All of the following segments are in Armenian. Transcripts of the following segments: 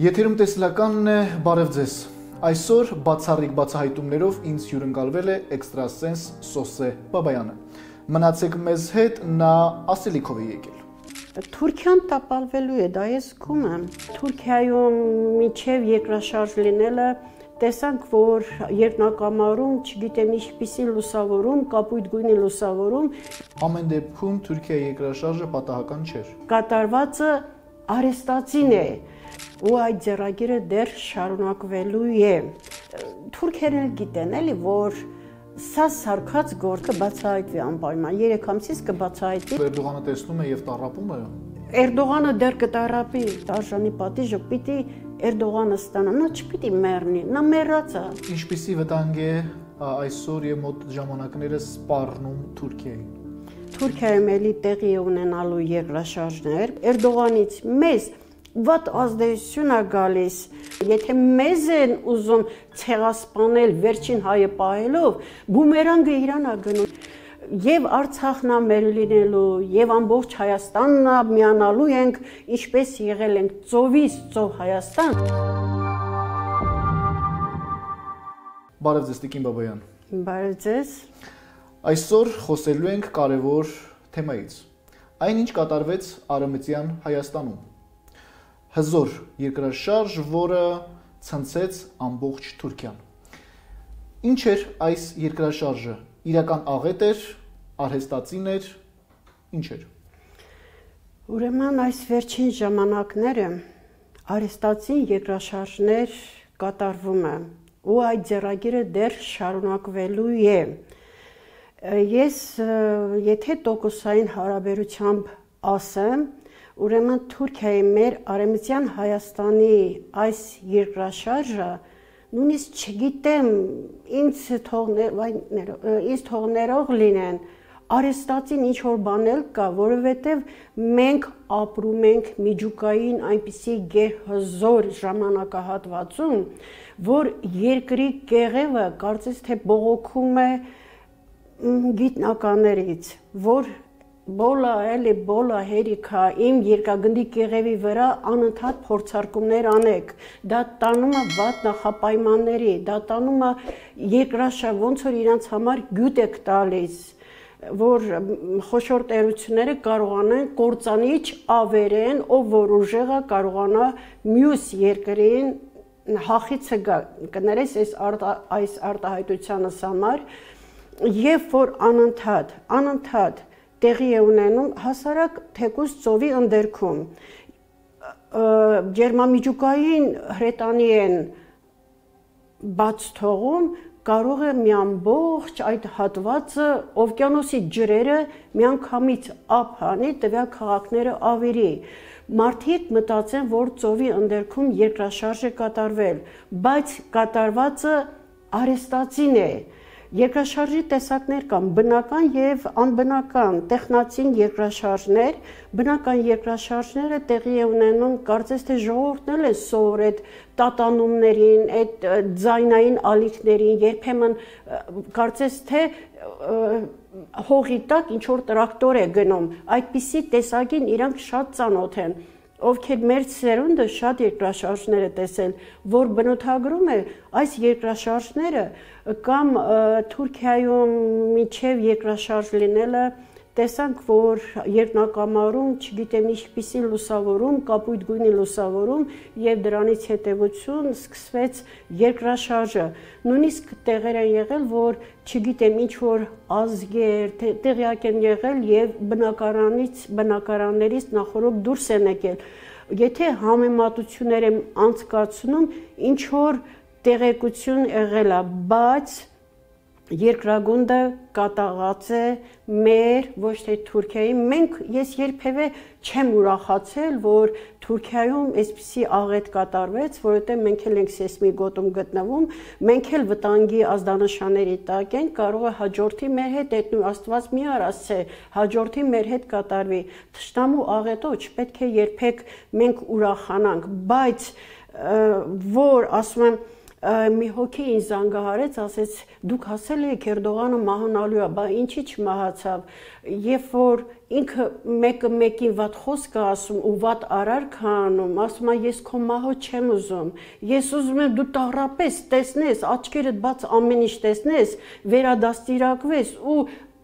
Եթերում տեսլականն է, բարև ձեզ։ Այսօր բացառիկ բացահայտումներով ինձ հյուրընկալվել է էքստրասենս Սոսե Բաբայանը։ Մնացեք մեզ հետ, նա ասելիքով է եկել։ Թուրքիան տապալվելու է, դա ես զգում եմ։ Թուրքիայում միջև երկրաշարժ լինելը տեսանք, որ երկնակամարում, չգիտեմ ինչպիսի լուսավորում, կապույտ գույնի լուսավորում։ Ամեն դեպքում Թուրքիայի երկրաշարժը պատահական չէր։ Կատարվածը արեստացին է, ու այդ ձեռագիրը դեռ շարունակվելու է։ Թուրքերն էլ գիտեն էլի, որ սա սարքած գործը բացահայտվի անպայման, 3 ամսից կբացահայտվի։ Էրդողանը տեսնում է եւ տառապում է։ Էրդողանը դեռ կտառապի, արժանի պատիժը պիտի Էրդողանը ստանա, նա չպիտի մեռնի, նա մեռած է։ Ինչպիսի վտանգ է այսօր եւ մոտ ժամանակներս սպառնում Թուրքիային։ Թուրքիայում էլի տեղի ունենալու երկրաշարժներ, Էրդողանից մեզ վատ ազդեցություն է գալիս, եթե մեզ են ուզում ցեղասպանել վերջին հայը պահելով, բումերանգը իրան է գնում։ Եվ Արցախն է մեր լինելու, եւ ամբողջ Հայաստանն է միանալու ենք, ինչպես եղել ենք ծովից ծով Հայաստան։ Բարև ձեզ, Տիկին Բաբայան։ Բարև ձեզ։ Այսօր խոսելու ենք կարևոր թեմայից։ Այն, ինչ կատարվեց Արևմտյան Հայաստանում։ Հզոր երկրաշարժ, որը ցնցեց ամբողջ Թուրքիան։ Ինչ էր այս երկրաշարժը։ Իրական աղետ էր, արհեստածին էր, ինչ էր։ Ուրեմն այս վերջին ժամանակները արհեստածին երկրաշարժներ կատարվում է, ու այդ ձեռագիրը դեռ շարունակվելու է։ Ես եթե տոկոսային հարաբերությամբ ասեմ, ուրեմն Թուրքիայի մեր Արևմտյան Հայաստանի այս երկրաշարժը նույնիսկ չգիտեմ ինձ թողներող լինեն, արհեստածին ինչ որ բանել կա, որովհետև մենք ապրում ենք միջուկային այնպիսի գերհզոր ժամանակահատվածում, որ երկրի կեղևը կարծես թե բողոքում է գիտնականներից, որ բոլա հերիքա իմ երկագնդի կեղևի վրա անընդհատ փորձարկումներ անեք, դա տանում է վատ նախապայմանների, դա տանում է երկրաշարժ, ոնց որ իրանց համար գյուտ եք տալիս, որ խոշոր տերությունները կարողանան կործանիչ ավերեն, ով որ ուժեղը կարողանա մյուս երկրին հախիցը կներես այս արտահայտությանս համար, երբ որ անընդհատ տեղի է ունենում հասարակ թեկուզ ծովի ընդերքում, ջերմամիջուկային հրետանի են բաց թողում, կարող է մի ամբողջ այդ հատվածը օվկիանոսի ջրերը միանգամից ափ հանի, տվյալ քաղաքները ավերի։ Մարդիկ մտածեն, որ ծովի ընդերքում երկրաշարժ է կատարվել, բայց կատարվածը արհեստածին է։ Երկրաշարժի տեսակներ կան, բնական եւ անբնական, տեխնացին երկրաշարժներ, բնական երկրաշարժները տեղի է ունենում, կարծես թե ժողովուրդն էլ է սովոր այդ տատանումներին, այդ ձայնային ալիքներին, երբեմն կարծես թե հողի տակ ինչ որ տրակտոր է գնում, այդպիսի տեսակին իրանք շատ ծանոթ են, ովքեր մեր սերունդը շատ երկրաշարժներ է տեսել, որ բնութագրում է այս երկրաշարժները կամ Թուրքիայում միջև երկրաշարժ լինելը տեսանք, որ երկնակամարում, չգիտեմ ինչպիսի լուսավորում, կապույտ գույնի լուսավորում եւ դրանից հետեւություն սկսվեց երկրաշարժը։ Նույնիսկ տեղեր են եղել, որ չգիտեմ ինչ որ ազգեր տեղյակ են եղել եւ բնակարաններից նախորդ դուրս են եկել։ Եթե համեմատություններ եմ անցկացնում, ինչ որ տեղեկություն եղել է, բայց երկրագունդը կատաղած է մեր, ոչ թե Թուրքիայի, ես երբևէ չեմ ուրախացել, որ Թուրքիայում այսպիսի աղետ կատարվեց, որովհետև մենք էլ ենք սեյսմիկ գոտում գտնվում, մենք էլ վտանգի ազդանշանների տակ ենք, կարող է հաջորդի մեր հետ այդնու Աստված մի արասցե, հաջորդի մեր հետ կատարվի, թշնամու աղետով չպետք է երբեք մենք ուրախանանք, բայց որ ասում եմ մի հոգի ինձ զանգահարեց, ասեց դուք ասել եք Էրդողանը մահանալու է, բա ինչի չմահացավ, երբ որ ինքը մեկը մեկին վատ խոսք է ասում ու վատ արարք է անում, ասում է ես քո մահը չեմ ուզում, ես ուզում եմ դու տառապես, տեսնես, աչքերդ բաց ամեն ինչ տեսնես, վերադաստիարակվես ու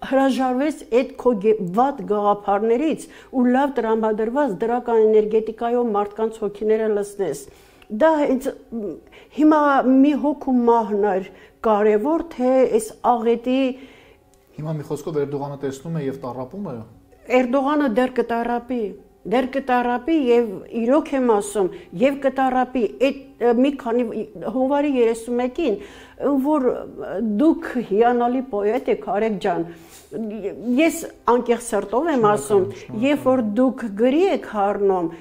հրաժարվես այդ քո վատ գաղափարներից ու լավ տրամադրված դրական էներգետիկայով մարդկանց հոգիները լցնես։ Դա հիմա մի հոգու մահն էր կարևոր, թե այս աղետի Հիմա մի խոսքով Էրդողանը տեսնում է եւ տառապում է։ Էրդողանը դեռ կտառապի եւ իրոք եմ ասում, եւ կտառապի այդ մի քանի հունվարի 31-ին, որ դուք հիանալի պոետ եք, Արեգ ջան, ես անկեղծ սրտով եմ ասում, երբ որ դուք գրի եք հառնում,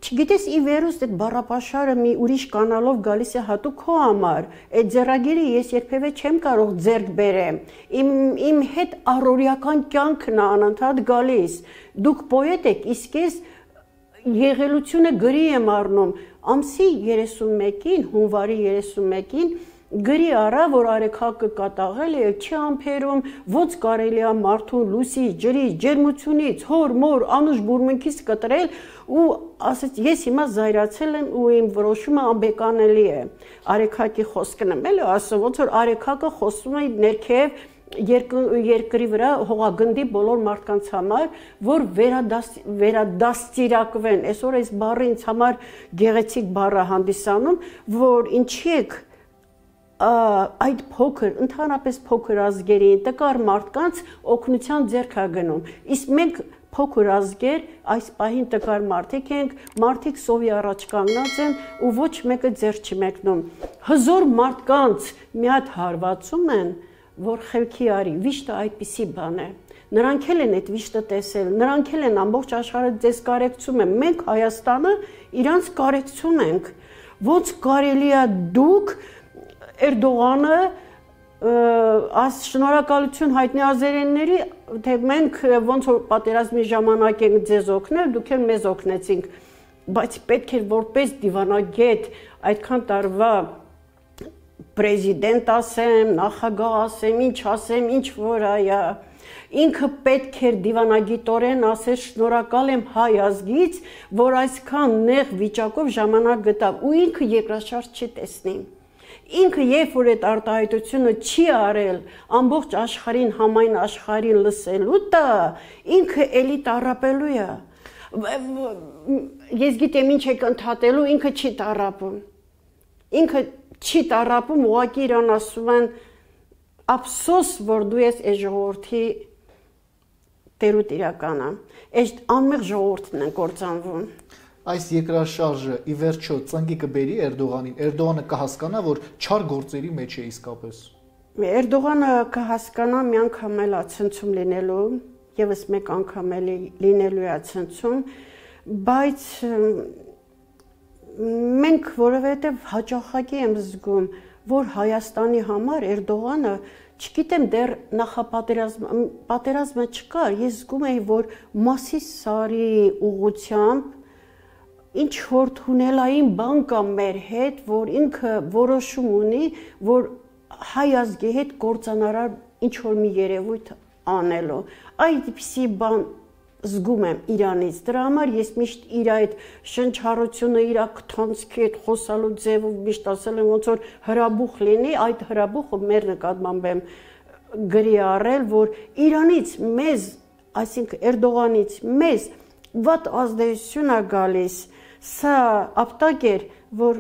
չգիտես ի վերուստ այդ բառապաշարը մի ուրիշ կանալով գալիս է հատուկ քո համար, այդ ձեռագիրը ես երբևէ չեմ կարող ձեռք բերեմ, իմ հետ առօրյական կյանքն է անընդհատ գալիս, դուք պոետ եք, իսկ ես եղելությունը գրի եմ առնում, ամսի 31-ին, հունվարի 31-ին գրի առա, որ արեքակը կատաղել է, չի ամփերում, ոնց կարելի է մարդուն լույսից, ջրից, ջերմությունից, հոր, մոր, անուշ բուրմունքից կտրել ու ասեց ես հիմա զայրացել եմ ու իմ որոշումը անբեկանելի է։ Արեքակի խոսքն եմ էլի ասում, ոնց որ արեքակը խոսում է ներքև երկրի վրա հողագնդի բոլոր մարդկանց համար, որ վերադաստիարակվեն, այսօր այս բառը ինձ համար գեղեցիկ բառ է հանդիսանում, որ ինչի եք այդ փոքր, ընդհանրապես փոքր ազգերի, տկար մարդկանց օգնության ձեռք է գնում, իսկ մենք փոքր ազգեր, այս պահին տկար մարդիկ ենք, մարդիկ սովի առաջ կանգնած են ու ոչ մեկը ձեռք չի մեկնում, հզոր մարդկանց մի հատ հարվածում են, որ խելքի արի, վիշտը այդպիսի բան է, նրանք էլ են այդ վիշտը տեսել, նրանք էլ են ամբողջ աշխարհը ձեզ կարեկցում են, մենք Հայաստանը իրանց կարեկցում ենք, ոնց կարելի է դուք Էրդողանը շնորհակալություն հայտնի ազերենների, թե մենք ոնց որ պատերազմի ժամանակ ենք ձեզ օգնել, դուք էլ մեզ օգնեցինք, բայց պետք է որպես դիվանագետ այդքան տարվա պրեզիդենտ ասեմ, նախագահ ասեմ, ինչ որ այա, ինքը պետք էր դիվանագիտորեն ասել շնորհակալ եմ հայ ազգից, որ այսքան նեղ վիճակով ժամանակ գտավ ու ինքը երկրաշարժ չի տեսնի։ Ինքը երբ որ այդ արտահայտությունը չի արել ամբողջ աշխարհին համայն աշխարհին լսելու տա, ինքը էլի տառապելու է։ Ես գիտեմ ինչ եք ընդհատելու, ինքը չի տառապում։ Ինքը չի տառապում, ուղղակի իրան ասում են ափսոս, որ դու ես այս ժողովրդի տերուտ իրականը։ Այս անմեղ ժողովուրդն են կործանվում։ Այս երկրաշարժը ի վերջո ծնկի կբերի Էրդողանին, Էրդողանը կհասկանա, որ չար գործերի մեջ է իսկապես։ Էրդողանը կհասկանա մի անգամ էլ ցնցում լինելու, եւս մեկ անգամ էլ լինելու է ցնցում, բայց մենք որովհետեւ հաճախակի եմ զգում, որ Հայաստանի համար Էրդողանը, չգիտեմ դեռ նախապատերազմը չկար, ես զգում եի, որ Մասի Սարի ուղղությամբ ինչ որ թունելային բան կա մեր հետ, որ ինքը որոշում ունի, որ հայ ազգի հետ կործանարար ինչ որ մի երևույթ անելու։ Այդպիսի բան զգում եմ Իրանից։ Դրա համար ես միշտ իր այդ շնչառությունը, իր քթանցքի այդ խոսալու ձևով միշտ ասել եմ, ոնց որ հրաբուխ լինի, այդ հրաբուխը մեր նկատմամբ եմ գրի առել, որ Իրանից մեզ, այսինքն Էրդողանից մեզ վատ ազդեցություն է գալիս։ Սա ապտակ էր, որ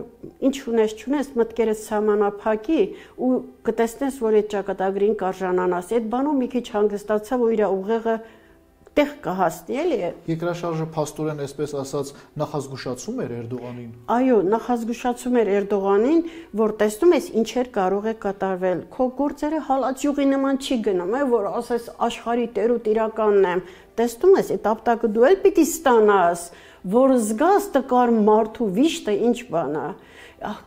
ինչ ունես չունես մտքերդ սահմանափակի ու կտեսնես, որ այդ ճակատագրին կարժանանաս։ Այդ բանով մի քիչ հանգստացա, որ իր ուղեղը տեղ կհասնի, էլի։ Երկրաշարժը փաստորեն, այսպես ասած, նախազգուշացում էր Էրդողանին։ Այո, նախազգուշացում էր Էրդողանին, որ տեսնում ես ինչեր կարող է կատարվել։ Քո գործերը հալածյուղի նման չի գնում, որ ասես աշխարհի տերուտ իրականն եմ։ Տեսնում ես, այդ ապտակը դու էլ պիտի ստանաս, որ զգաս տկար մարդու վիշտը ինչ բան է,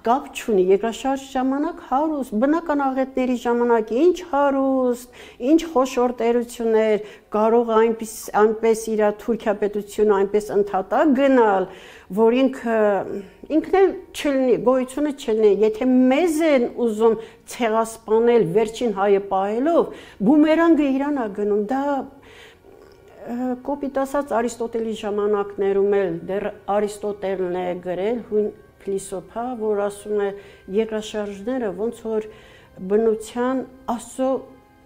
կապ չունի, երկրաշարժ ժամանակ հարուստ, բնական աղետների ժամանակ ինչ հարուստ, ինչ խոշոր տերություններ, կարող այնպես իր Թուրքիա պետությունը այնպես ընդհատակ գնալ, որ ինքն էլ չլինի, գոյությունը չլինի, եթե մեզ են ուզում ցեղասպանել վերջին հայը պահելով, բումերանգը իրան է գնում, դա կոպիտ ասած Արիստոտելի ժամանակներում էլ դեռ Արիստոտելն է գրել, հույն փիլիսոփա, որ ասում է երկրաշարժները ոնց որ բնության Աստծո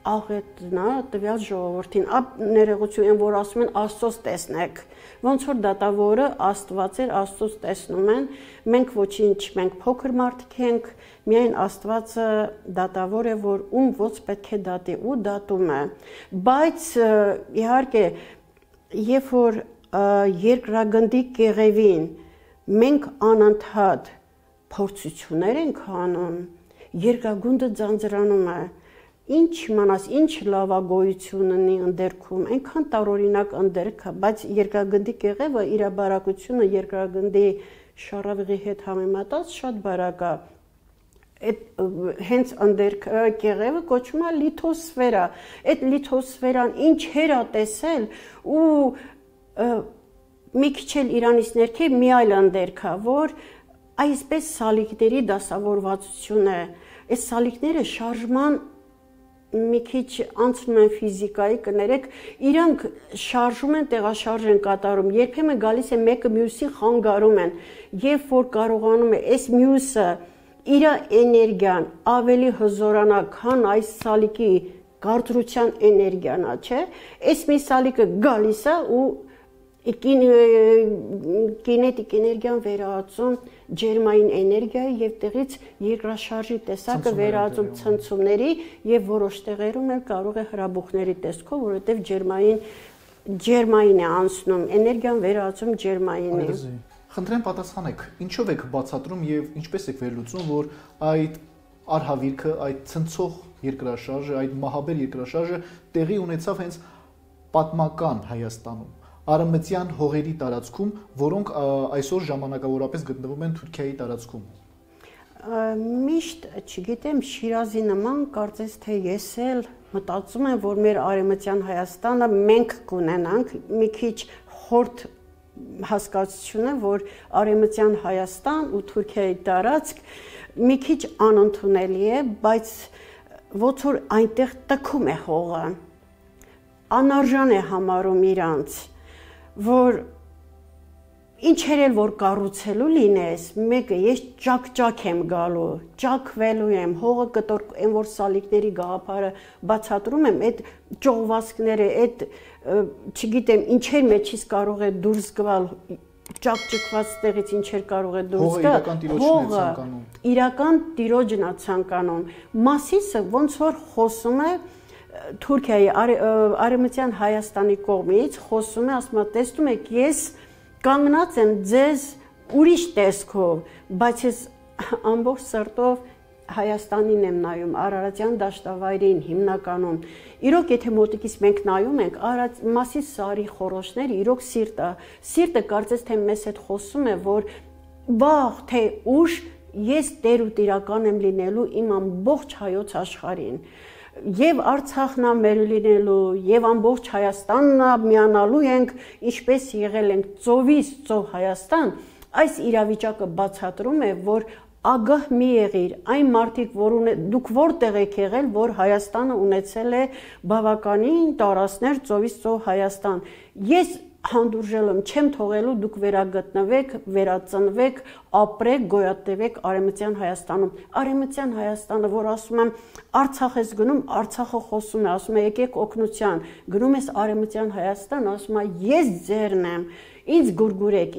աղետն է տվյալ ժողովրդին, ներողություն են, որ ասում են Աստծոց տեսնեք, ոնց որ դատավորը Աստված էր, Աստծոց տեսնում են, մենք ոչինչ, մենք փոքր մարդիկ ենք, միայն Աստվածը դատավոր է, որ ում ոնց պետք է դատի ու դատում է, բայց իհարկե, երբ որ երկրագնդի կեղևին մենք անընդհատ փորձություններ ենք անում, երկրագունդը ձանձրանում է, ինչ իմանաս, ինչ լավագոյություն ունի ընդերքում, այնքան տարօրինակ ընդերք է, բայց երկրագնդի կեղևը իր բարակությունը երկրագնդի շառավղի հետ համեմատած շատ բարակ է, հենց ընդերք կեղևը կոչվում է լիթոսֆերա, այդ լիթոսֆերան ինչեր է տեսել ու մի քիչ էլ իրանից ներքև մի այլ ընդերք է, որ այսպես սալիկների դասավորվածություն է, այս սալիկները շարժման մի քիչ անցնում են ֆիզիկայի, կներեք, իրանք շարժում են, տեղաշարժ են կատարում, երբեմն գալիս է մեկը մյուսին խանգարում են, երբ որ կարողանում է այս մյուսը իր էներգիան ավելի հզորանա, քան այս սալիկի կարծրության էներգիան է, չէ՞, այս մի սալիկը գալիս է ու կինետիկ էներգիան վերածում ջերմային էներգիայի եւ տեղից երկրաշարժի տեսակը վերածում ցնցումների եւ որոշ տեղերում էլ կարող է հրաբուխների տեսքով, որովհետեւ ջերմային է անցնում, էներգիան վերածում ջերմայինի։ Խնդրեմ պատասխանեք, ինչով եք բացատրում եւ ինչպես եք վերլուծում, որ այդ արհավիրքը, այդ ցնցող երկրաշարժը, այդ մահաբեր երկրաշարժը տեղի ունեցավ հենց պատմական Հայաստանում, արևմտյան հողերի տարածքում, որոնք այսօր ժամանակավորապես գտնվում են Թուրքիայի տարածքում։ Միշտ, չգիտեմ, Շիրազի նման կարծես թե ես էլ մտածում եմ, որ մեր արևմտյան Հայաստանը մենք կունենանք մի քիչ խորտ հասկացությունը, որ արևմտյան Հայաստան ու Թուրքիայի տարածք մի քիչ անընդունելի է, բայց ոնց որ այնտեղ տքում է հողը, անարժան է համարում իրանց, որ ինչեր էլ որ կառուցելու լինես, մեկը ես ճակ եմ գալու, ճակվելու եմ, հողը կտոր, այն որ սալիկների գաղափարը բացատրում եմ, այդ ճողվածքները, այդ չգիտեմ, ինչեր մեջից կարող է դուրս գալ, ճակճկված տեղից ինչեր կարող է դուրս գալ, հողը իրական տիրոջն է ցանկանում, Մասիսը ոնց որ խոսում է Թուրքիայի արևմտյան Հայաստանի կողմից, խոսում է, ասում է, տեսնում եք, ես կանգնած եմ ձեզ ուրիշ տեսքով, բայց ես ամբողջ սրտով Հայաստանին եմ նայում, Արարատյան դաշտավայրին հիմնականում։ Իրոք եթե մոտիկից մենք նայում ենք, Մասիս սարի խորոշները իրոք սիրտը կարծես թե մեզ հետ խոսում է, որ վաղ թե ուշ ես տեր ու տիրական եմ լինելու իմ ամբողջ հայոց աշխարհին։ Եվ Արցախն է մեր լինելու, եւ ամբողջ Հայաստանն է միանալու ենք, ինչպես եղել ենք ծովից ծով Հայաստան, այս իրավիճակը բացատրում է, որ ագահ մի եղիր, այն մարդիկ, որ դուք որտեղ եք եղել, որ Հայաստանը ունեցել է բավականին տարածքներ ծովից ծով Հայաստան։ Ես հանդուրժել եմ, չեմ թողելու դուք վերագտնվեք, վերածնվեք, ապրեք, գոյատևեք Արևմտյան Հայաստանում։ Արևմտյան Հայաստանը, որ ասում եմ, Արցախ ես գնում, Արցախը խոսում է, ասում է եկեք օգնության, գնում ես Արևմտյան Հայաստան, ասում է ես ձերն եմ, ինձ գուրգուրեք,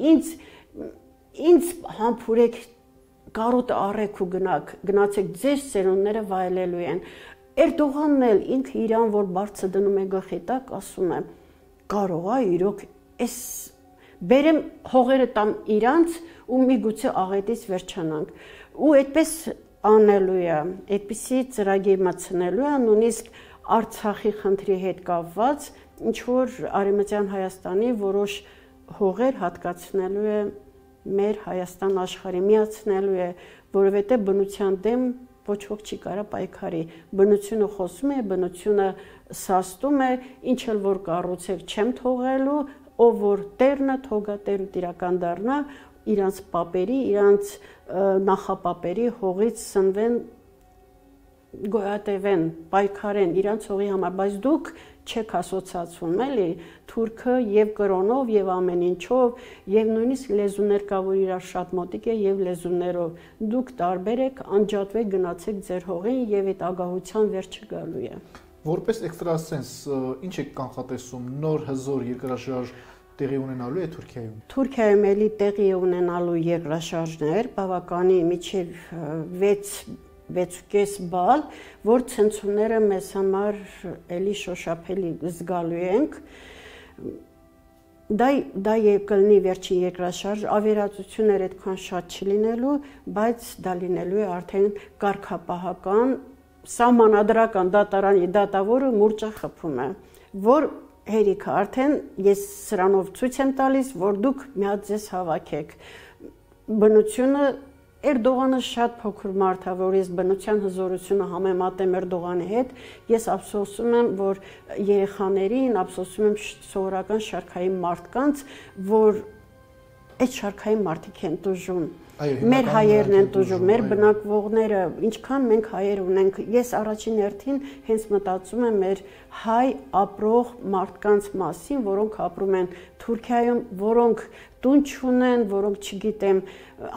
ինձ համբուրեք, կարոտը առեք ու գնացեք, ձեր սերունդները վայելելու են։ Էրդողանն էլ ինքը իրան, որ բարձր դնում է գլխի տակ, ասում է կարող է իրոք այս բերեմ հողերը տամ իրանց ու միգուցե աղետից վերջանանք ու այդպես անելու է, այդպիսի ծրագիր մտցնելու է, նույնիսկ Արցախի խնդրի հետ կապված, ինչ որ Արևմտյան Հայաստանի որոշ հողեր հատկացնելու է մեր Հայաստան աշխարհի, միացնելու է, որովհետև բնության դեմ ոչ ոք չի կարա պայքարի։ Բնությունը խոսում է, բնությունը սաստում է, ինչ էլ որ կառուցեք չեմ թողելու, ով որ տերն է, թողա տեր ու տիրական դառնա, իրանց պապերի, իրանց նախապապերի հողից սնվեն, գոյատևեն, պայքարեն իրանց հողի համար, բայց դուք չեք ասոցացվում, էլի, թուրքը եւ կրոնով եւ ամեն ինչով եւ նույնիսկ լեզուներ կա, որ իրար շատ մոտիկ է եւ լեզուներով դուք տարբեր եք, անջատվեք, գնացեք ձեր հողին եւ այդ ագահության վերջը գալու է։ Որպես էքստրասենս, ինչ եք կանխատեսում, նոր հզոր երկրաշարժ տեղի ունենալու է Թուրքիայում։ Թուրքիայում էլի տեղի ունենալու երկրաշարժներ, բավականի միջև 6.5 բալ, որ ցնցումները մեզ համար էլի շոշափելի զգալու ենք։ Դա կլինի վերջին երկրաշարժ, ավերածություններ այդքան շատ չլինելու, բայց դա լինելու է արդեն կարգապահական, սահմանադրական դատարանի դատավորը մուրճը խփում է, որ հերիքը արդեն ես սրանով ցույց եմ տալիս, որ դուք մի հատ ձեզ հավաքեք։ Բնությունը Էրդողանը շատ փոքր մարդ է, որ ես բնության հզորությունը համեմատեմ Էրդողանի հետ, ես ափսոսում եմ, որ երեխաներին, ափսոսում եմ սովորական շարքային մարդկանց, որ այդ շարքային մարդիկ են տուժում։ Մեր հայերն են տուժում, մեր բնակվողները, ինչքան մենք հայեր ունենք, ես առաջին հերթին հենց մտածում եմ մեր հայ ապրող մարդկանց մասին, որոնք ապրում են Թուրքիայում, որոնք տուն չունեն, որոնք չգիտեմ,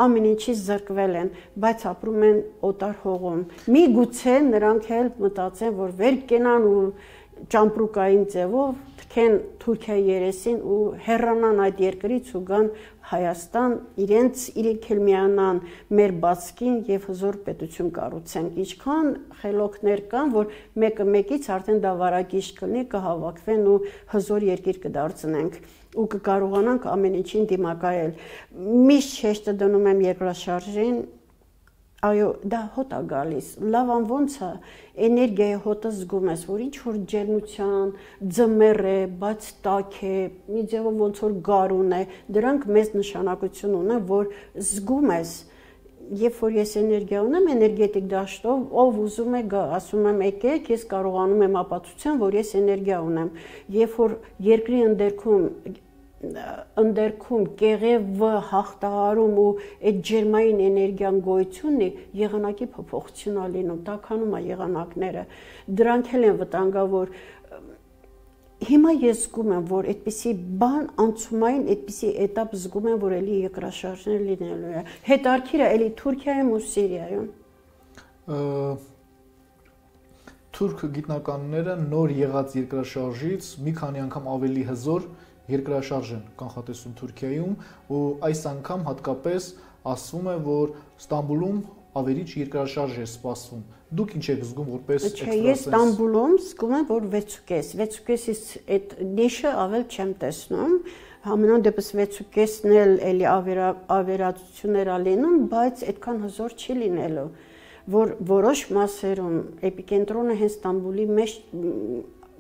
ամեն ինչից զրկվել են, բայց ապրում են օտար հողում։ Միգուցե նրանք էլ մտածեն, որ վեր կենան ու ճամպրուկային ձևով թքեն Թուրքիայի երեսին ու հեռանան այդ երկրից ու գան Հայաստան, իրենք էլ միանան մեր բացքին եւ հզոր պետություն կառուցենք։ Ինչքան խելոքներ կան, որ մեկը մեկից արդեն դա վարակիչ կլինի, կհավաքվեն ու հզոր երկիր կդարձնենք ու կկարողանանք ամեն ինչին դիմակայել։ Միշտ շեշտը դնում եմ երկրաշարժին, այո, դա հոտ է գալիս, լավան ոնց է, էներգիայի հոտը զգում ես, որ ինչ որ ջերմության, ձմեռ է, բայց տաք է, մի ձևով ոնց որ գարուն է, դրանք մեծ նշանակություն ունեն, որ զգում ես, երբ որ ես էներգիա ունեմ, էներգետիկ դաշտով, ով ուզում է գա, ասում եմ եկեք, ես կարողանում եմ ապացուցեմ, որ ես էներգիա ունեմ, երբ որ երկրի ընդերքում կեղևը հաղթահարում ու այդ ջերմային էներգիան գոյությունն է, եղանակի փոփոխություն է լինում, տաքանում է եղանակները, դրանք էլ են վտանգավոր։ Հիմա ես զգում եմ, որ այդպիսի բան անցումային, այդպիսի էտապ զգում եմ, որ էլի երկրաշարժներ լինելու է։ Հետարքիրը էլի Թուրքիայում ու Սիրիայում։ Թուրք գիտնականները նոր եղած երկրաշարժից մի քանի անգամ ավելի հզոր երկրաշարժ են կանխատեսում Թուրքիայում ու այս անգամ հատկապես ասվում է, որ Ստամբուլում ավերիչ երկրաշարժ է սպասվում։ Դուք ինչ եք զգում որպես էքստրասենս։ Ես Ստամբուլում զգում եմ, որ 6.5-ից այդ նիշը ավել չեմ տեսնում։ Համենայն դեպս 6.5-ն էլ ավերածություններ ա լինում, բայց այդքան հզոր չի լինելու, որ որոշ մասերում էպիկենտրոնը հենց Ստամբուլի մեջ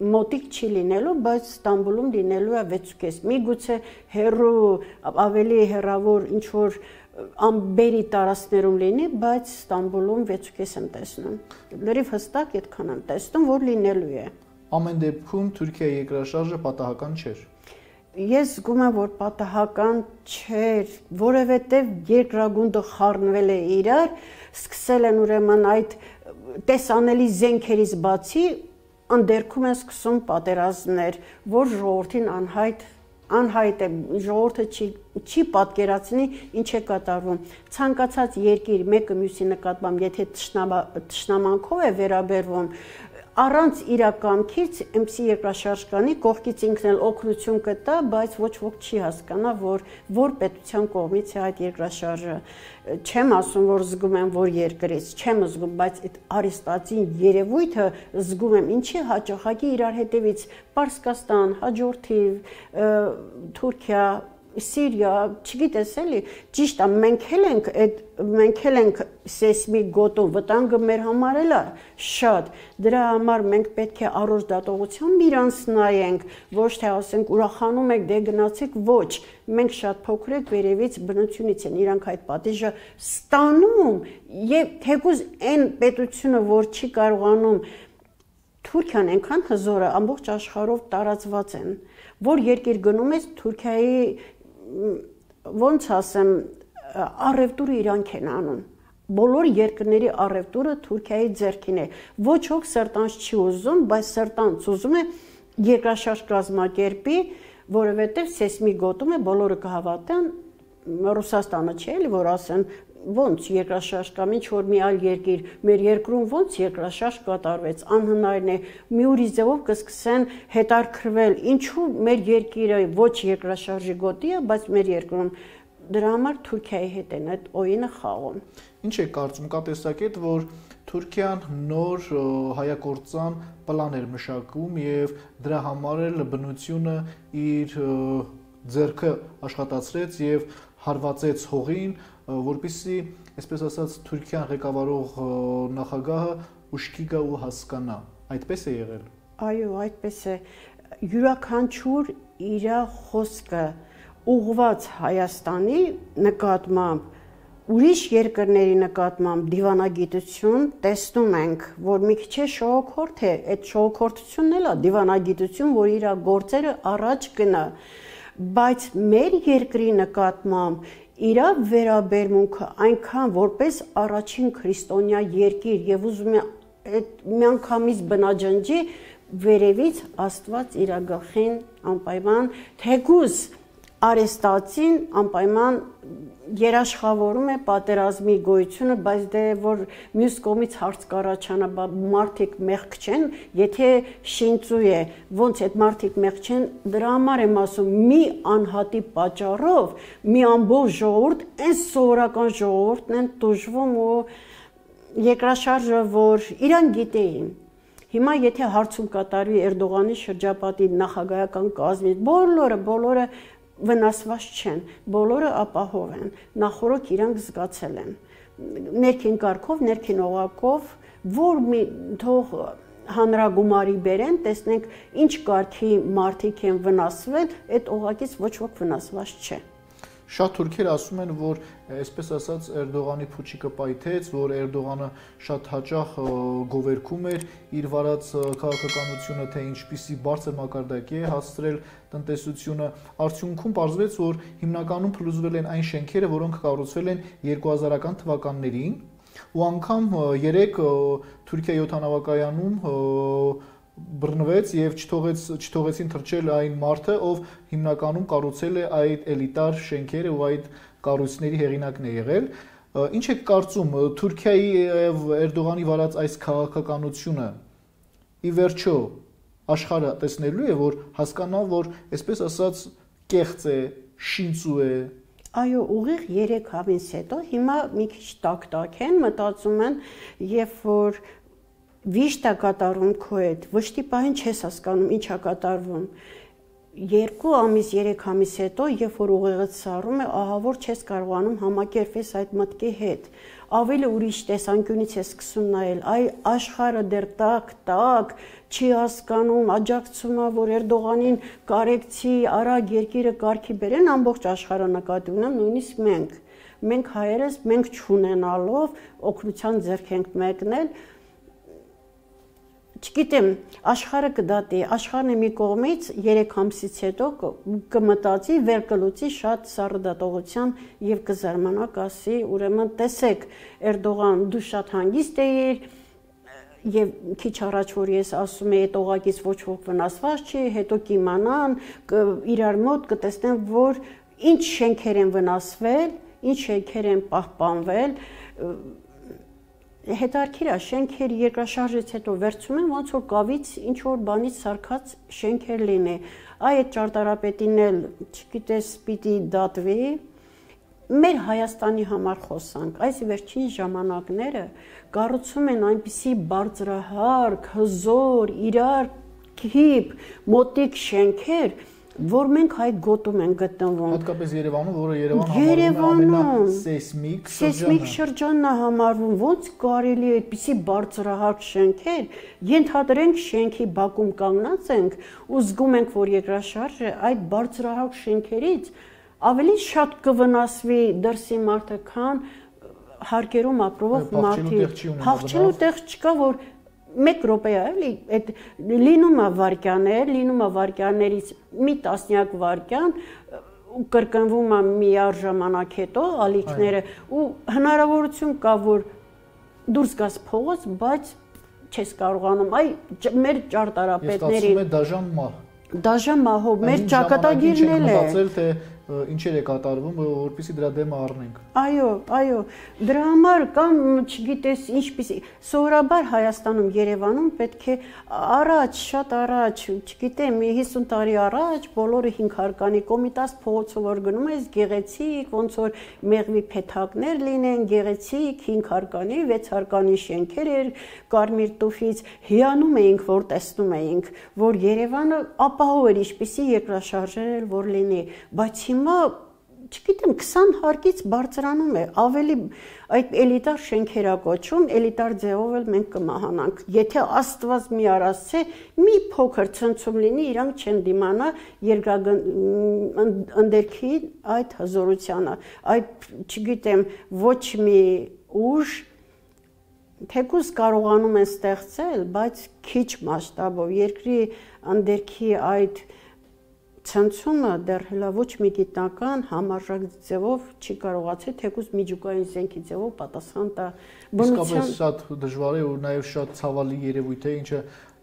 մոտիկ չի լինելու, բայց Ստամբուլում լինելու է 6.5։ Միգուցե հեռու ավելի հեռավոր ինչ որ ամբերի տարածքներում լինի, բայց Ստամբուլում 6.5 եմ տեսնում։ Լրիվ հստակ այդքան եմ տեսնում, որ լինելու է։ Ամեն դեպքում Թուրքիայի երկրաշարժը պատահական չէր։ Ես զգում եմ, որ պատահական չէր, որովհետև երկրագունդը խառնվել է իրար, սկսել են ուրեմն այդ տեսանելի զենքերից բացի ընդերքում են սկսում պատերազմներ, որ ժողովրդին անհայտ է, ժողովուրդը չի պատկերացնի ինչ է կատարվում։ Ցանկացած երկիր մեկը մյուսի նկատմամբ, եթե թշնամանքով է վերաբերվում, առանց իրականքից MC երկրաշարժ կանի, կողքից ինքն էլ օգնություն կտա, բայց ոչ ոք չի հասկանա, որ պետության կողմից է այդ երկրաշարժը։ Չեմ ասում, որ զգում եմ, որ երկրից, չեմ զգում, բայց այդ արիստացին երևույթը զգում եմ, ինչի հաջողակի իրար հետևից Պարսկաստան, հաջորդիվ Թուրքիա, Սիրիա, չգիտես էլի, ճիշտ է, մենք ենք սեյսմիկ գոտու վտանգը մեր համար էլ է շատ, դրա համար մենք պետք է առողջ դատողությամբ իրանց նայենք, ոչ թե ասենք ուրախանում եք, դե գնացեք, ոչ, մենք շատ փոքր ենք վերևից բնությունից են իրանք այդ պատիժը ստանում եւ թեկուզ այն պետությունը, որ չի կարողանում Թուրքիան այնքան հզոր է, ամբողջ աշխարհով տարածված են, որ երկիր գնում ես Թուրքիայի ոնց ասեմ, առևտուրը իրանք են անում։ Բոլոր երկրների առևտուրը Թուրքիայի ձեռքին է։ Ոչ ոք սրտանց չի ուզում, բայց սրտանց ուզում է երկրաշարժ կազմակերպի, որովհետև սեյսմիկ գոտում է, բոլորը կհավատան, Ռուսաստանը չէ, էլի որ ասեն ոնց երկրաշարժ կամ ինչ որ մի այլ երկիր մեր երկրում ոնց երկրաշարժ կատարվեց անհնարին է մի ուրիշ ձևով կսկսեն հետաքրքրվել ինչու մեր երկիրը ոչ երկրաշարժի գոտի է բայց մեր երկրում դրա համար Թուրքիայի հետ են այդ օինը խաղում ինչ է կարծում կա տեսակետ որ Թուրքիան նոր հայագործան պլան էր մշակում եւ դրա համար էլ բնությունը իր ձեռքը աշխատացրեց եւ հարվածեց հողին որպեսզի, այսպես ասած, Թուրքիան ղեկավարող նախագահը ուշքի գա ու հասկանա։ Այդպես է եղել։ Այո, այդպես է։ Յուրաքանչյուր իր խոսքը ուղղված Հայաստանի նկատմամբ, ուրիշ երկրների նկատմամբ դիվանագիտություն տեսնում ենք, որ մի քիչ շողոքորթ է, այդ շողոքորթությունն էլ է դիվանագիտություն, որ իր գործերը առաջ գնա, բայց մեր երկրի նկատմամբ իր վերաբերմունքը այնքան որպես առաջին քրիստոնյա երկիր եւ ուզում է այդ միանգամից բնաջնջի վերևից Աստված իր գլխին անպայման թեկուզ արեստացին անպայման երաշխավորում է պատերազմի գոյությունը, բայց դե որ մյուս կողմից հարց կառաջանա, մարդիկ մեղք չեն, եթե շինծու է, ոնց այդ մարդիկ մեղք չեն, դրա համար եմ ասում, մի անհատի պատճառով, մի ամբողջ ժողովուրդ, այն սովորական ժողովուրդն են տուժվում ու երկրաշարժը, որ իրան գիտեին։ Հիմա եթե հարցում կատարվի Էրդողանի շրջապատի նախագահական կազմից, բոլորը վնասված չեն, բոլորը ապահով են, նախորդ իրանք զգացել են, ներքին կարգով, ներքին օղակով, որ մի թող հանրագումարի բերեն, տեսնենք ինչ կարգի մարդիկ են վնասվել, այդ օղակից ոչ ոք վնասված չէ։ Շատ թուրքեր ասում են, որ այսպես ասած Էրդողանի փուչիկը պայթեց, որ Էրդողանը շատ հաճախ գովերքում էր իր վարած քաղաքականությունը, թե ինչպիսի բարձր մակարդակի է հասցրել տնտեսությունը, արդյունքում պարզվեց, որ հիմնականում փլուզվել են այն շենքերը, որոնք կառուցվել են 2000-ական թվականներին, ու անգամ երեք Թուրքիայի օդանավակայանում բռնվեց եւ չթողեցին թռչել այն մարդը, ով հիմնականում կառուցել է այդ էլիտար շենքերը ու այդ կառույցների հեղինակն է եղել։ Ինչ է կարծում Թուրքիայի եւ Էրդողանի վարած այս քաղաքականությունը ի վերջո աշխարհը տեսնելու է, որ հասկանա, որ այսպես ասած կեղծ է, շինծու է։ Այո, ուղիղ 3 ամիս հետո հիմա մի քիչ տակ են, մտածում են, երբ որ Վիշտ է կատարում քո հետ, վշտի պահին չես հասկանում ինչ է կատարվում։ 2 ամիս, 3 ամիս հետո, երբ որ ուղեղդ սառում է, ահա որ չես կարողանում համակերպվել այդ մտքի հետ։ Ավելի ուրիշ տեսանկյունից ես սկսում նայել, այ աշխարհը դեռ տակ, չի հասկանում, աջակցում է, որ Էրդողանին կարեկցի, արագ երկիրը կարգի բերեն, ամբողջ աշխարհը նկատի ունեմ, նույնիսկ մենք հայերս, մենք չունենալով օգնության ձեռք ենք մեկնել, Չգիտեմ, աշխարհը կդատի, աշխարհն է մի կողմից 3 ամսից հետո կմտածի, վեր կլուծի շատ սառը դատողության եւ կզարմանա, կասի, ուրեմն տեսեք, Էրդողան, դու շատ հանգիստ էիր եւ քիչ առաջ որ ես ասում եի, այդ օղակից ոչ ոք վնասված չի, հետո կիմանան, իրար մոտ կտեսնեն, որ ինչ շենքեր են վնասվել, ինչ շենքեր են պահպանվել, հետարքիր է, շենքեր երկրաշարժից հետո վերցում են, ոնց որ կավից ինչ-որ բանից սարքած շենքեր լինի, այդ ճարտարապետին էլ, չգիտես, պիտի դատվի, մեր Հայաստանի համար խոսանք, այս վերջին ժամանակները կառուցում են այնպիսի բարձրահարկ, հզոր, իրար կիպ, մոտիկ շենքեր, որ մենք այդ գոտում ենք գտնվում։ Հատկապես Երևանում, որը Երևանը ամենասեյսմիկ շրջանն է համարվում, ոնց կարելի է այդպիսի բարձրահարկ շենքեր, ենթադրենք շենքի բակում կանգնած ենք ու զգում ենք, որ երկրաշարժը այդ բարձրահարկ շենքերից ավելի շատ կվնասվի դրսի մարդը, քան հարկերում ապրող մարդիկ։ Փախչելու տեղ չկա, որ 1 րոպե է, էլի, այդ լինում է վարքյաններ, լինում է վարքյաններից մի տասնյակ վարքյան ու կրկնվում է միաժամանակ հետո ալիքները ու հնարավորություն կա, որ դուրս գաս փողոց, բայց չես կարողանում, մեր ճարտարապետների։ Ես դաժան մահ։ Դաժան մահով մեր ճակատագիրն է։ Ինչեր է կատարվում, որպեսզի դրա դեմը առնենք։ Այո, դրա համար կամ չգիտես ինչպիսի սովորաբար Հայաստանում, Երևանում պետք է առաջ, շատ առաջ, չգիտեմ, 50 տարի առաջ բոլորը 5 հարկանի Կոմիտաս փողոցով որ գնում ես, գեղեցիկ, ոնց որ մեղվի փեթակներ լինեն, գեղեցիկ 5 հարկանի, 6 հարկանի շենքեր էր, կարմիր տուֆից հիանում էինք, որ տեսնում էինք, որ Երևանը ապահով էր ինչպիսի երկրաշարժեր էր, որ լինի, բայց հիմա չգիտեմ 20 հարկից բարձրանում է, ավելի այդ էլիտար շենքերա կոչում, էլիտար ձևով էլ մենք կմահանանք։ Եթե Աստված մի արասցե, մի փոքր ցնցում լինի, իրանք չեն դիմանա ընդերքի այդ հզորությանը, այդ չգիտեմ ոչ մի ուժ թեկուզ կարողանում են ստեղծել, բայց քիչ մասշտաբով երկրի ընդերքի այդ ցնցումը դեռ հələ ոչ մի գիտնական համարժեք ձևով չի կարողացել թեկուզ միջուկային զենքի ձևով պատասխան տա բնության։ Իսկապես շատ դժվար է ու նաև շատ ցավալի երևույթ է, ինչը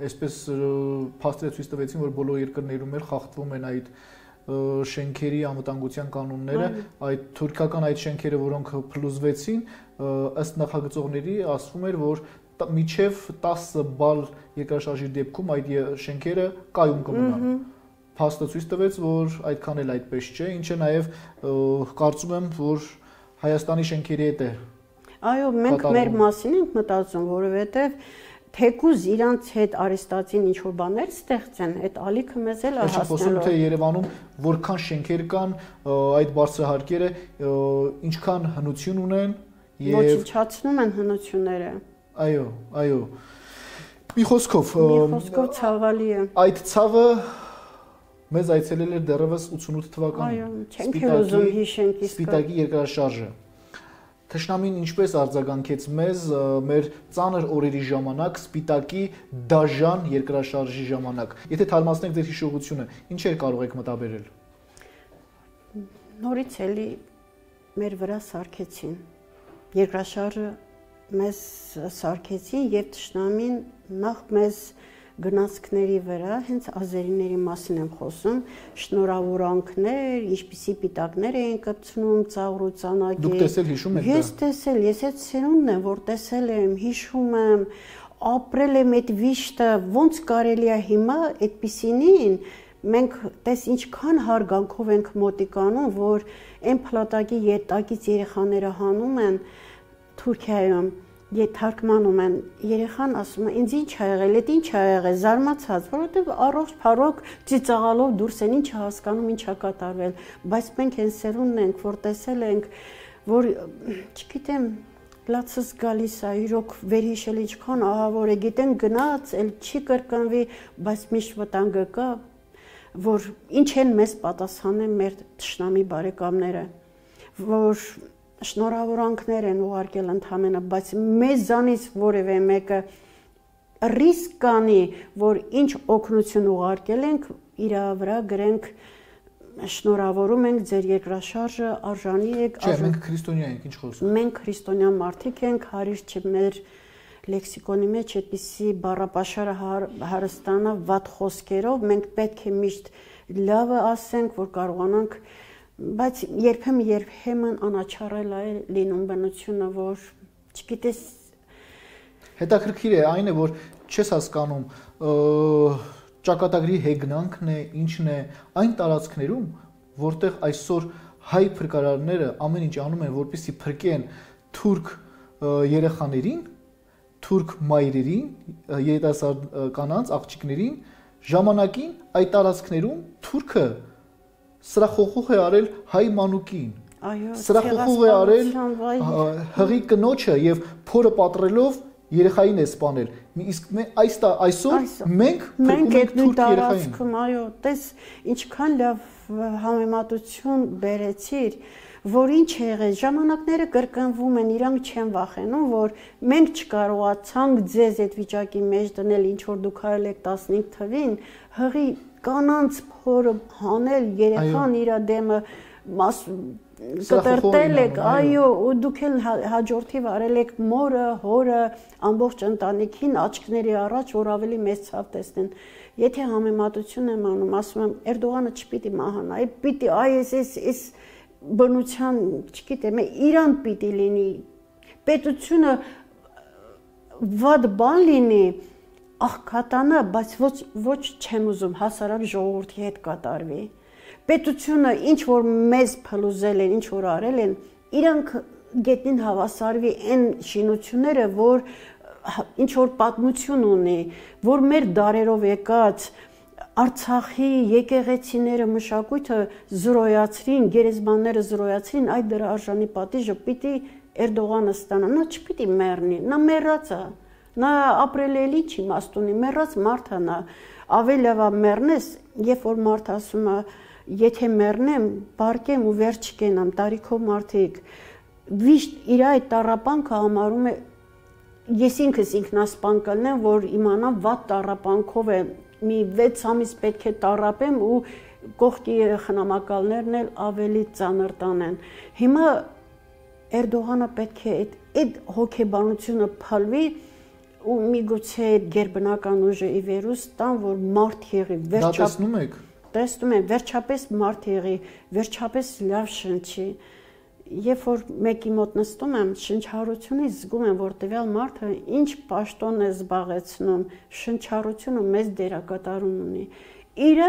այսպես փաստերը ցույց տվեցին, որ բոլոր երկրներում էլ խախտվում են այդ շենքերի անվտանգության կանոնները, այդ թուրքական այդ շենքերը, որոնք փլուզվեցին, ըստ նախագծողների ասվում էր, որ միջև 10 բալ երկրաշարժի դեպքում այդ շենքերը կայուն կմնան։ Փաստը ցույց տվեց, որ այդքան էլ այդպես չէ, ինչը նաև կարծում եմ, որ Հայաստանի շենքերի հետ է։ Այո, մենք մեր մասին ենք մտածում, որովհետև թեկուզ իրանց հետ արեստացին ինչ-որ բաներ ստեղծեն, այդ ալիքը մեզ էլ է հասնելու։ Խոսում թե Երևանում որքան շենքեր կան, այդ բարձրահարկերը ինչքան հնություն ունեն եւ ոչնչացնում են հնությունները։ Այո։ Մի խոսքով ցավալի է։ Այդ ցավը մեզ այցելել էր դեռևս 88 թվականին։ Չենք ուզում հիշենք իսկ Սպիտակի երկրաշարժը։ Թշնամին ինչպես արձագանքեց մեզ մեր ծանր օրերի ժամանակ, Սպիտակի դաժան երկրաշարժի ժամանակ։ Եթե թարմացնենք ձեր հիշողությունը, ինչեր կարող եք մտաբերել։ Նորից էլի մեր վրա սարքեցին։ Երկրաշարժը մեզ սարքեցին եւ թշնամին նախ մեզ գնացքների վրա, հենց ազերիների մասին եմ խոսում, շնորհավորանքներ, ինչպիսի պիտակներ էին կպցնում, ծաղրու ծանակի։ Դուք տեսել հիշում եք դա։ Ես տեսել, ես այդ սերունդն եմ, որ տեսել եմ, հիշում եմ, ապրել եմ այդ վիշտը, ոնց կարելի է հիմա այդպիսինին, մենք տես ինչքան հարգանքով ենք մոտիկանում, որ այն փլատակի ետակից երեխաները հանում են Թուրքիայում Թարգմանում են, երեխան ասում է, ինձ ինչ ա եղել, այդ ինչ ա եղել, զարմացած, որովհետև առողջ փառոք ծիծաղալով դուրս են, ինչ ա հասկանում, ինչ ա կատարվել, բայց մենք այն սերունդն ենք, որ տեսել ենք, որ չգիտեմ, լացս գալիս է, իրոք վերհիշել ինչքան ահավոր է, գիտեն գնաց, էլ չի կրկնվի, բայց միշտ վտանգը կա, որ ինչ են մեզ պատասխանել մեր թշնամի բարեկամները, որ շնորհավորանքներ են ուղարկել ընդհանրապես, բայց մեզանից որևէ մեկը ռիսկ կանի, որ ինչ օգնություն ուղարկել ենք, իր վրա գրենք շնորհավորում ենք ձեր երկրաշարժը, արժանի եք։ Չէ, մենք քրիստոնյա ենք, ինչ խոսում։ Մենք քրիստոնյա մարդիկ ենք, հարիր չէ մեր լեքսիկոնի մեջ այդպիսի բառապաշարը հարստանա վատ խոսքերով, մենք պետք է միշտ լավը ասենք, որ կարողանանք Բայց երբեմն անաչառել է լինում բնությունը, որ չգիտես հետաքրքիր է այն է, որ չես հասկանում ճակատագրի հեգնանքն է, ինչն է այն տարածքներում, որտեղ այսօր հայ փրկարարները ամեն ինչ անում են, որպեսզի փրկեն թուրք երեխաներին, թուրք մայրերին, երիտասարդ կանանց, աղջիկներին, ժամանակին այդ տարածքներում թուրքը սրախողող է արել հայ մանուկին։ Այո, սրախողող է արել հղի կնոջը եւ փորը պատռելով երեխային է սպանել։ Իսկ այսօր մենք այդ նույն տարածքում, այո, տես ինչքան լավ համեմատություն բերեցիր, որ ինչ եղել, ժամանակները կրկնվում են, իրանք չեն վախենում, որ մենք չկարողացանք ձեզ այդ վիճակի մեջ դնել, ինչ որ դուք արել եք 15 թվին, հղի կանանց փորը հանել, երեխան իր դեմը կտրտել եք, այո, ու դուք էլ հաջորդիվ արել եք մորը, հորը, ամբողջ ընտանիքին աչքների առաջ, որ ավելի մեծ ցավ տեսնեն։ Եթե համեմատություն եմ անում, ասում եմ, Էրդողանը չպիտի մահանա, պիտի այս բնության, չգիտեմ, Իրան պիտի լինի, պետությունը վատ բան լինի, աղքատանա, բայց ոչ չեմ ուզում հասարակ ժողովրդի հետ կատարվի։ Պետությունը ինչ որ մեզ փլուզել են, ինչ որ արել են, իրանք գետնին հավասարվի այն շինությունները, որ ինչ որ պատմություն ունի, որ մեր դարերով եկած Արցախի եկեղեցիները մշակույթը զրոյացրին, գերեզմանները զրոյացրին, այդ դրա արժանի պատիժը պիտի Էրդողանը ստանա, նա չպիտի մեռնի, նա մեռած է, նա ապրել էլի չի իմաստ ունի, մեռած մարդ է նա, ավելի լավ է մեռնես, երբ որ մարդ ասում է, եթե մեռնեմ, բարկեմ ու վերջ չկենամ, տարիքով մարդիկ, վիշտ իր այդ տառապանքը համարում է, ես ինքս ինքնասպան կլնեմ, որ իմանամ վատ տառապանքով է մի 6 ամիս պետք է տառապեմ ու կողքի խնամակալներն էլ ավելի ծանր տանեն։ Հիմա Էրդողանը պետք է այդ հոգեբանությունը փալվի ու միգուցե այդ գերբնական ուժը ի վերուս տան, որ մարդ եղի, Դա տեսնում եք։ Տեսնում եմ, վերջապես մարդ եղի, վերջապես լավ շնչի։ Երբ որ մեկի մոտ նստում եմ, շնչառությունից զգում եմ, որ տվյալ մարդը ինչ պաշտոն է զբաղեցնում, շնչառությունը մեծ դերակատարում ունի։ Իր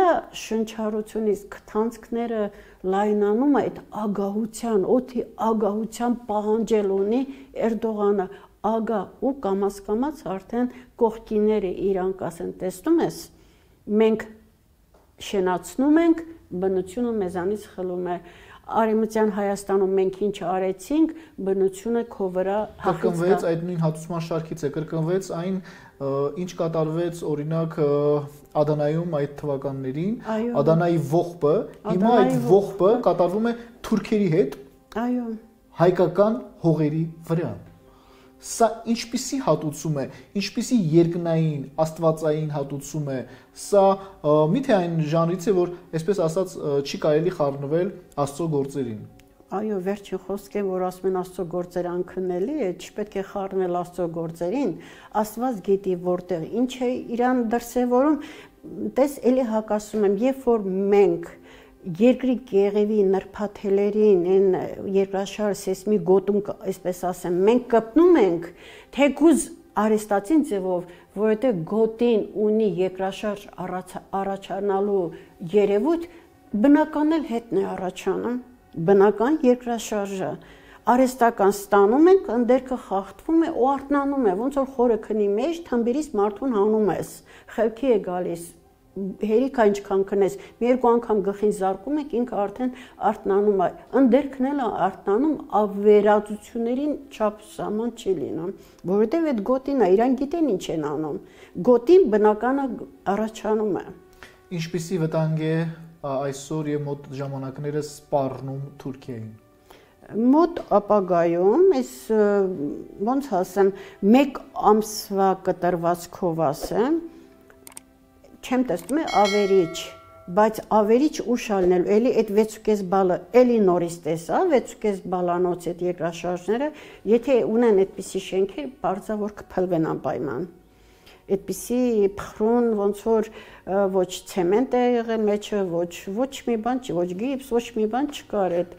շնչառությունից քթանցքները լայնանում այդ ագահության, օդի ագահության պահանջել ունի Էրդողանը, ագահ ու կամաց արդեն կողքիները իրան կասեն, տեսնում ես, մենք շենացնում ենք, բնությունը մեզանից խլում է։ Արևմտյան Հայաստանում մենք ինչ արեցինք, բնությունը քո վրա կրկնվեց այդ նույն հատուցման շարքից է, կրկնվեց այն, ինչ կատարվեց օրինակ Ադանայում այդ թվականներին, Ադանայի ողբը, հիմա այդ ողբը կատարվում է թուրքերի հետ, այո, հայկական հողերի վրա։ Սա ինչպիսի հատուցում է, ինչպիսի երկնային, աստվածային հատուցում է, սա միթե այն ժանրից է, որ այսպես ասած չի կարելի խառնվել Աստծո գործերին։ Այո, վերջին խոսքը, որ ասում են Աստծո գործերը անքննելի է, չպետք է խառնել Աստծո գործերին, Աստված գիտի որտեղ ինչ է իրան դրսևորում, տես էլի հակասում եմ, երբ որ մենք երկրի կեղևի նրբաթելերին, այն երկրաշարժ սեյսմի գոտում, այսպես ասեմ, մենք կպնում ենք, թեկուզ արեստացին ձևով, որովհետև գոտին ունի երկրաշարժ առաջանալու երևույթ, բնական էլ հետն է առաջանում, բնական երկրաշարժը, արեստական ստանում ենք, ընդերքը խախտվում է ու արթնանում է, ոնց որ խորը քնի մեջ, թմբիրից մարդուն հանում ես, խելքի է գալիս, հերիքա ինչքան քնես, մի երկու անգամ գլխին զարկում եք, ինքը արդեն արթնանում է, ընդերքն էլ արթնանում, ավերածություններին չափ սահման չի լինում, որովհետև այդ գոտին է, իրան գիտեն ինչ են անում, գոտին բնականը առաջանում է։ Ինչպիսի վտանգ է այսօր եւ մոտ ժամանակները սպառնում Թուրքիային։ Մոտ ապագայում, այս ոնց ասեմ, մեկ ամսվա կտրվածքով ասեմ, չեմ տեսնում ավերիչ, բայց ավերիչ ուշ ալնել, էլի այդ 6.5 բալը էլի նորից տեսա, 6.5 բալանոց այդ երկրաշարժները, եթե ունեն այդպիսի շենքեր, բարձա որ կփլվեն անպայման։ Այդպիսի փխրուն, ոնց որ ոչ ցեմենտ է եղել մեջը, ոչ մի բան չի, ոչ գիպս, ոչ մի բան չկար այդ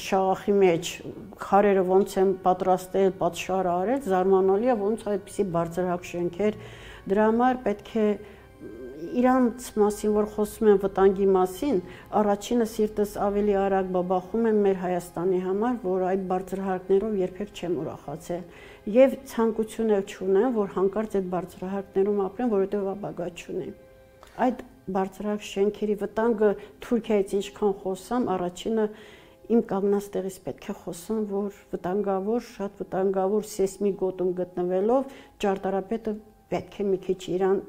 շաղախի մեջ, քարերը ոնց են պատրաստել, պատշար արել, զարմանալի է, ոնց այդպիսի բարձրահարկ շենքեր, դրա համար պետք է իրանց մասին, որ խոսում են վտանգի մասին, առաջինը սիրտս ավելի արագ բաբախում եմ մեր Հայաստանի համար, որ այդ բարձրահարկներով երբեք չեմ ուրախացել եւ ցանկություն էլ չունեմ, որ հանկարծ այդ բարձրահարկներում ապրեմ, որովհետեւ ապագա չունեմ։ Այդ բարձրակ շենքերի վտանգը Թուրքիայից ինչքան խոսամ, առաջինը իմ կանգնած տեղից պետք է խոսեմ, որ վտանգավոր, շատ վտանգավոր սեյսմիկ գոտում գտնվելով ճարտարապետը պետք է մի քիչ իրան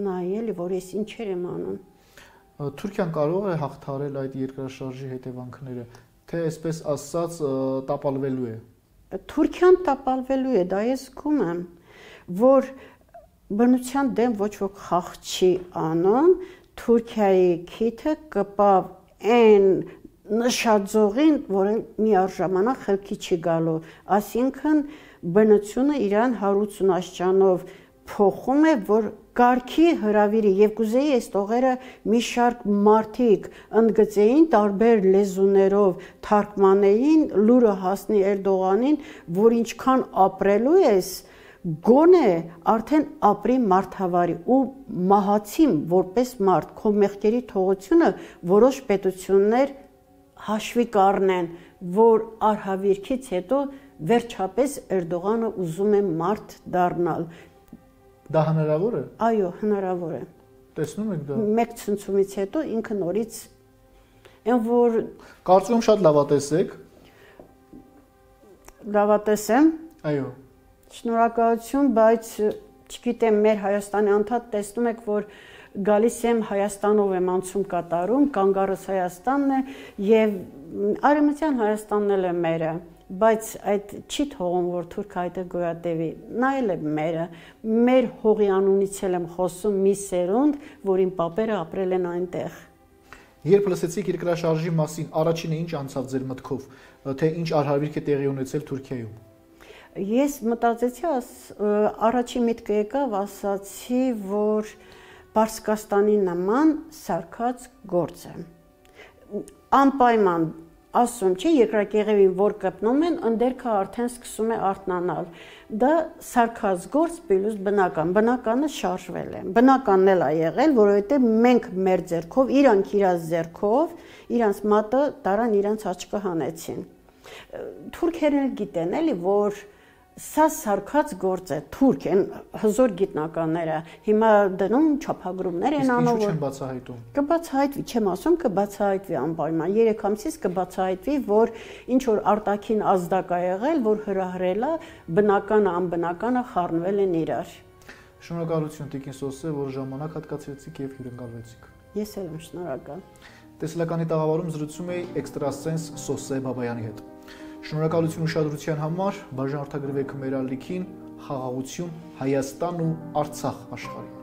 նայել, որ ես ինչեր եմ անում։ Թուրքիան կարող է հաղթահարել այդ երկրաշարժի հետևանքները, թե այսպես ասած տապալվելու է։ Թուրքիան տապալվելու է, դա ես զգում եմ, որ բնության դեմ ոչ ոք խաղ չի անում, Թուրքիայի քիթը կպավ այն նշաձողին, որը միառժամանակ խելքի չի գալու, այսինքն բնությունը իրան 180 աստիճանով փոխում է, որ կարգի հրավիրի եւ կուզեի այս տողերը մի շարք մարդիկ ընդգծեին տարբեր լեզուներով թարգմանեին, լուրը հասնի Էրդողանին, որ ինչքան ապրելու ես, գոնե արդեն ապրի մարդավարի ու մահացիմ որպես մարդ, քո մեղքերի թողությունը որոշ պետություններ հաշվի կառնեն, որ արհավիրքից հետո վերջապես Էրդողանը ուզում է մարդ դառնալ։ Դա հնարավոր է։ Այո, հնարավոր է։ Տեսնում եք դա։ Մեկ ցնցումից հետո ինքը նորից այն որ Կարծում եմ շատ լավատես եք։ լավատես եմ։ Այո։ Շնորհակալություն, բայց չգիտեմ, մեր Հայաստանի անդադ տեսնում եք, որ գալիս եմ Հայաստանով եմ անցում կատարում, կանգառս Հայաստանն է եւ Արևմտյան Հայաստանն էլ է մերը, բայց այդ չի թողում, որ թուրքը այդտեղ գոյատևի, նա էլ է մերը, մեր հողի անունից էլ եմ խոսում մի սերունդ, որին պապերը ապրել են այնտեղ։ Երբ լսեցիք երկրաշարժի մասին, առաջինը ինչ անցավ ձեր մտքով, թե ինչ արհավիրք է տեղի ունեցել Թուրքիայում։ Ես մտածեցի, առաջին միտքը եկավ, ասացի, որ Պարսկաստանի նման սարքած գործ է։ Անպայման ասում չի, երկրակեղևին որ կպնում են, ընդերքը արդեն սկսում է արթնանալ։ Դա սարքած գործ պլյուս բնական, բնականը շարժվել է։ Բնականն էլ է եղել, որովհետև մենք մեր ձեռքով, իրանք իրաց ձեռքով, իրանց մատը տարան իրանց աչքը հանեցին։ Թուրքերն գիտեն էլի, որ սա սարքած գործ է, թուրք են հզոր գիտնականները, հիմա դնում չափագրումներ են անում, որ չեն բացահայտում։ Կբացահայտվի, չեմ ասում, կբացահայտվի անպայման, 3 ամսից կբացահայտվի, որ ինչ որ արտաքին ազդակ է եղել, որ հրահրել է, բնականը, անբնականը խառնվել են իրար։ Շնորհակալություն Տիկին Սոսե, որ ժամանակ հատկացրեցիք եւ հյուրընկալվեցիք։ Ես էլ եմ շնորհակալ։ Տեսլականի տաղավարում զրուցում էի էքստրասենս Սոսե Բաբայանի հետ։ Շնորհակալություն ուշադրության համար, բաժանորդագրվեք մեր ալիքին, խաղաղություն, Հայաստան ու Արցախ աշխարհին։